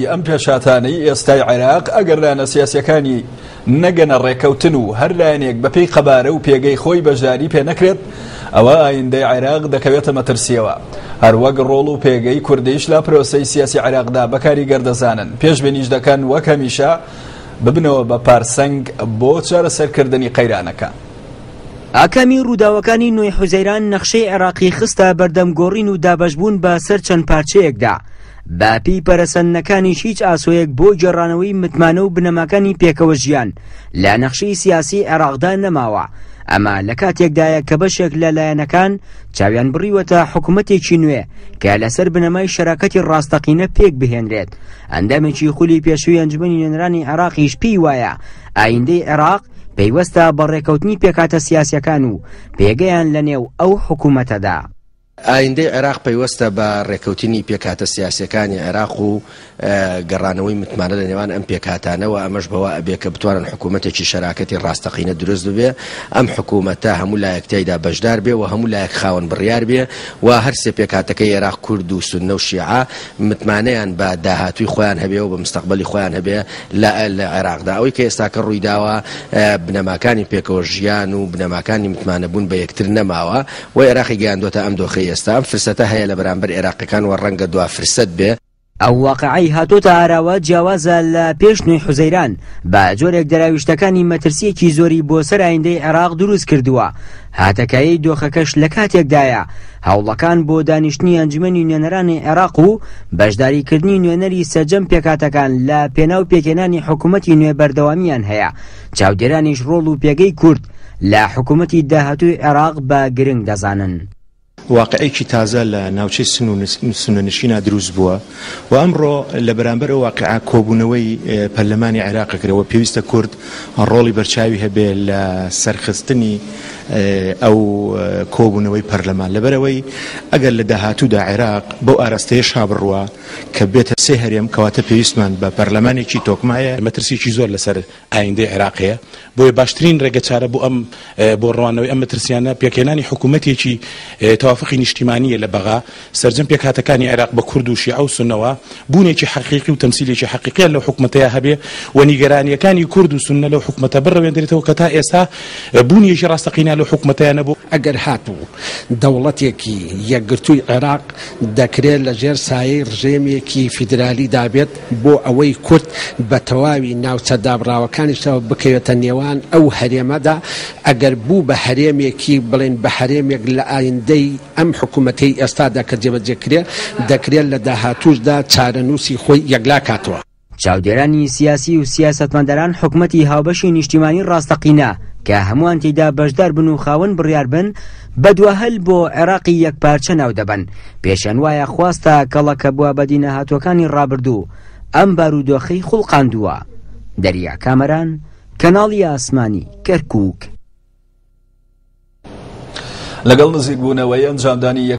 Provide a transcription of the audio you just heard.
ئەم پێشهاتانەی ئێستای عێراق، ئەگەر لایەنە سیاسییەکانی نەگەنە ڕێککەوتن و هەر لایەنێک بەپێی قەبارە و پێگەی خۆی بەشداری پێ نەکرێت، ئەوا ئایندەی عێراق دەکەوێتە مەترسییەوە. هەروەک ڕۆڵ و پێگەی کوردیش لە پرۆسەی سیاسی عێراقدا بە کاریگەر دەزانن، پێشبینیش دەکەن وەک هەمیشە ببنەوە بە پارسەنگ بۆ چارەسەرکردنی قەیرانەکان. ئاکامی ڕووداوەکانی نۆی حوزەیران نەخشەی عێراقی خستە بەردەم گۆڕین و دابەشبوون بە سەر چەند پارچەیەکدا. بە پێی پەرەسەندنەکانیش هیچ ئاسۆیەک بۆ گێڕانەوەی متمانە و بنەماکانی پێکەوە ژیان لە نەخشەی سیاسی عێراقدا نەماوە. ئەمە لە کاتێکدایە کە بەشێک لە لایەنەکان چاویان بڕیوەتە حکومەتێکی نوێ کە لەسەر بنەمای شەراکەتی ڕاستەقینە پێک بهێنرێت. ئەندامێکی خولی پێشووی ئەنجومەنی نوێنەرانی عێراقیش پێی وایە ئایندەی عێراق پەیوەستە بە ڕێکەوتنی پێکهاتە سیاسیەکان و پێگەیان لە نێو ئەو حکومەتەدا. ئایندەی عێراق پەیوەستە بە ڕێکەوتنی پێکهاتە سیاسیەکانی عێراق و گەڕانەوەی متمانە لە نێوان ئەم پێکهاتانە و ئەمەش بەوە ئەبێ کە بتوانن حکوومەتێکی شەراکەتی ڕاستەقینە دروست ببێ، ئەم حکوومەتە هەموو لایەک تیایدا بەشدار بێ و هەموو لایەک خاوەن بڕیار بێ و هەر سێ پێکهاتەکەی عێراق کورد و سوننە و شیعە متمانەیان بە داهاتووی خۆیان هەبێ و بە مستەقبەلی خۆیان هەبێ لە عێراقدا. ئەوەی کە ئێستاکە ڕوویداوە بنەماکانی پێکەوە ژیان و بنەماکانی متمانەبوون بە یەکتر نەماوە و عێراقی گەیاندۆتە ئەم دۆخەی ئێستا. ئەم فرسەتە هەیە لە بەرامبەر عێراقیەکان و ڕەنگە دوا فرسەت بێ. ئەو واقعەی هاتۆتە ئاراوە جیاوازە لە پێش نۆی حوزەیران، بە جۆرێک دەراویشتەکانی مەترسییەکی زۆری بۆ سەر ئایندەی عێراق دروست کردووە، هاتەکایەی دۆخەکەش لە کاتێکدایە هەوڵەکان بۆ دانیشتنی ئەنجومەنی نوێنەرانی عێراق و بەشداریکردنی نوێنەری سەرجەم پێکهاتەکان لە پێناو پێکهێنانی حکومەتی نوێ بەردەوامییان هەیە، چاودێرانیش ڕۆڵ و پێگەی کورد لە حکومەتی داهاتووی عێراق بە گرنگ دەزانن. واقیعێکی تازە لە ناوچەی سنوونشینا دروست بووە و ئەمڕۆ لە بەرامبەر ئەو واقیعە کۆبوونەوەی پەرلەمانی عێراق کرا و پێویستە کورد ڕۆڵی بەرچاوی هەبێ لە سەرخستنی ئەو کۆبوونەوەی پەرلەمان لەبەرئەوەی ئەگەر لە داهاتوودا عێراق بەو ئاراستەیەشا بڕوا کە بێتە سێ هەرێم کەواتە پێویستمان بە پەرلەمانێکی تۆکمە هەیە. مەترسییەکی زۆر لەسەر ئایندەی عێراق هەیە، بۆیە باشترین ڕێگەچارە بۆ ئەم بۆ ڕوانەوەی ئەم مەترسیانە پێکهێنانی حکوومەتێکی تەوافقی نیشتیمانییە لە بەغا، سەرجەم پێکهاتەکانی عێراق بە کورد و شیعە و سوننەوە بوونێکی حەقیقی و تەمسیلێکی حەقیقیان لەو حکومەتەیا هەبێ و نیگەرانییەکانی کورد و سوننە لەو حکومەتە بڕەوێندرێتەوە کە تا ئێستا بوونێکی ڕاستەقینە لەو حکومەتەیا نەبوو. ئەگەر هاتوو دەوڵەتێکی یەکگرتووی عێراق دەکرێت لە ژێر سایەی ڕژێمێکی فیدرالیدا بێت بۆ ئەوەی کورد بە تەواوی ناوچە دابڕاوەکانیشەوە بکەوێتە نێوان ئەو هەرێمەدا، ئەگەر بوو بە هەرێمێکی بڵێین بە هەرێمێک لە ئایندەی ئەم حکومەتەی ئێستادا کە جێبەجێ کرێ، دەکرێت لە داهاتووشدا چارەنووسی خۆی یەکلا کاتەوە. چاودێرانی سیاسی و سیاسەتمەداران حکومەتی هاوبەشی نیشتیمانی ڕاستەقینە کە هەمووان تێیدا بەشدار بن و خاوەن بڕیار بن بە دواهەل بۆ عێراقی یەکپارچە ناودەبەن، پێشیان وایە خواستە کەڵەکەبووە بەدینەهاتووەکانی ڕابردوو ئەم بارودۆخەی خوڵقاندووە. دەریا کامەران، کەناڵی ئاسمانی، کەرکوک. لەگەڵ نزیکبوونەوەی ئەنجامدانی.